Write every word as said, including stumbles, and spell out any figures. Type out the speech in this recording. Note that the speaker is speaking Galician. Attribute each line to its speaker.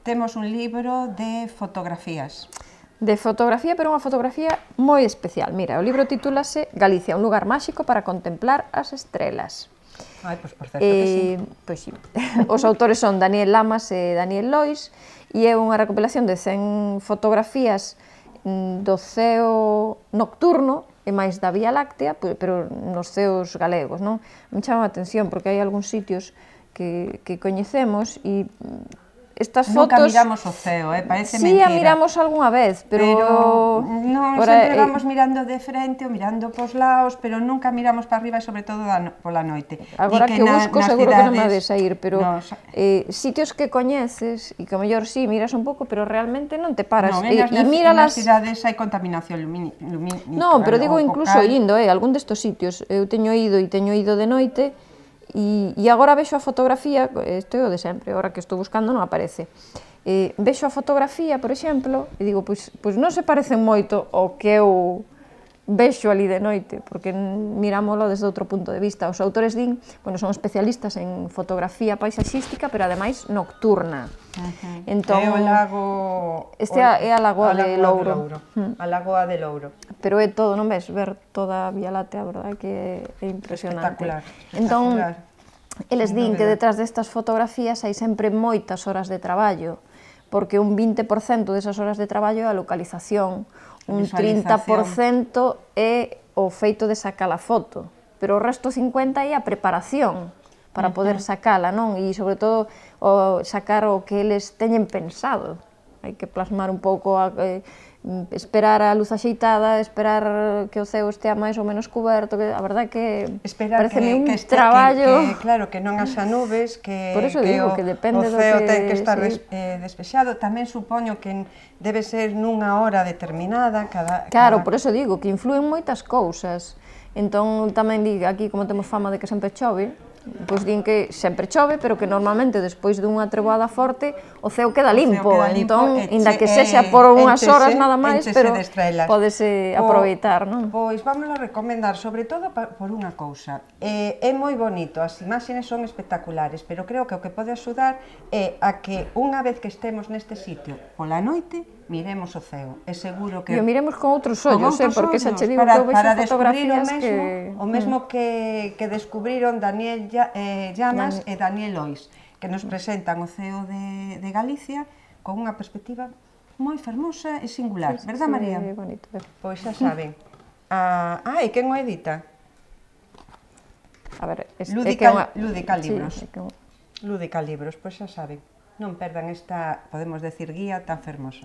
Speaker 1: temos un libro de fotografías.
Speaker 2: De fotografía, pero unha fotografía moi especial. Mira, o libro titúlase Galicia, un lugar máxico para contemplar as estrelas.
Speaker 1: Ai, pois por certo que sí.
Speaker 2: Pois sí. Os autores son Daniel Lamas e Daniel Lois, e é unha recopilación de cen fotografías do ceo nocturno e máis da Vía Láctea, pero nos ceos galegos, non? Me chama a atención porque hai algúns sitios que, que coñecemos e estas
Speaker 1: Nunca
Speaker 2: fotos...
Speaker 1: miramos o ceo, eh? Parece
Speaker 2: sí,
Speaker 1: mentira.
Speaker 2: Sí, a miramos algunha vez, pero...
Speaker 1: Pero non,
Speaker 2: Ora,
Speaker 1: sempre
Speaker 2: eh...
Speaker 1: vamos mirando de frente ou mirando pos lados, pero nunca miramos para arriba e sobre todo da no, pola noite.
Speaker 2: Agora que, que
Speaker 1: na,
Speaker 2: busco seguro cidades... que non me hades a ir, pero no, eh, sitios que coñeces e que a mellor sí, miras un pouco, pero realmente non te paras.
Speaker 1: Non, e, nas,
Speaker 2: e míralas...
Speaker 1: nas cidades hai contaminación lumínica.
Speaker 2: Non, pero digo incluso indo, eh, algún destos sitios. Eu teño ido e teño ido de noite e, e agora vexo a fotografía, isto é o de sempre, agora que estou buscando non aparece. Eh, vexo a fotografía, por exemplo, e digo, pois, pois non se parecen moito ao que eu vexo ali de noite, porque mirámoslo desde outro punto de vista. Os autores din, bueno, son especialistas en fotografía paisaxística, pero ademais nocturna.
Speaker 1: Uh-huh.
Speaker 2: Entón,
Speaker 1: é o lago...
Speaker 2: Este é a Lagoa de Louro.
Speaker 1: A Lagoa de Louro.
Speaker 2: Pero é todo, non ves? Ver toda a Vía Láctea, a verdade que é impresionante.
Speaker 1: Espectacular.
Speaker 2: Entón, eles din que detrás destas fotografías hai sempre moitas horas de traballo, porque un vinte por cento desas horas de traballo é a localización, un trinta por cento é o feito de sacar a foto, pero o resto cincuenta por cento é a preparación para poder sacala, non? E, sobre todo, o sacar o que eles teñen pensado. Hai que plasmar un pouco, a, eh, esperar a luz axeitada, esperar que o ceo estea máis ou menos coberto, que a verdade que parece un
Speaker 1: que este,
Speaker 2: traballo...
Speaker 1: Que, que, claro, que non haxa nubes, que,
Speaker 2: Por eso
Speaker 1: que
Speaker 2: digo,
Speaker 1: o,
Speaker 2: que depende
Speaker 1: o ceo
Speaker 2: do que,
Speaker 1: ten que estar
Speaker 2: sí.
Speaker 1: des, eh, despexado. Tamén supoño que debe ser nunha hora determinada. Cada,
Speaker 2: claro,
Speaker 1: cada...
Speaker 2: por eso digo, que influen moitas cousas. Entón, tamén digo, aquí, como temos fama de que sempre chove, pois din que sempre chove, pero que normalmente despois dunha treboada forte o ceo queda limpo,
Speaker 1: queda limpo
Speaker 2: entón,
Speaker 1: e
Speaker 2: inda que sexa por unhas horas nada máis, pero pódese aproveitar, non?
Speaker 1: Pois vamos a recomendar, sobre todo por unha cousa, é, é moi bonito, as imaxes son espectaculares, pero creo que o que pode axudar é a que unha vez que estemos neste sitio pola noite, miremos o ceo, é seguro que...
Speaker 2: E o miremos con outros ollos, eh, porque xa che digo que eu vexo fotografías que...
Speaker 1: O mesmo que, que descubriron Daniel eh, Llamas Dan... e Daniel Lois, que nos presentan o ceo de, de Galicia con unha perspectiva moi fermosa e singular, sí, verdad,
Speaker 2: sí,
Speaker 1: María?
Speaker 2: Sí, bonito.
Speaker 1: Pois xa saben. Ah, ah, e quen o edita?
Speaker 2: A ver, es,
Speaker 1: Lúdica,
Speaker 2: é que unha...
Speaker 1: Lúdica Libros.
Speaker 2: Sí, é que...
Speaker 1: Lúdica Libros, pois xa saben. Non perdan esta, podemos decir, guía tan fermosa.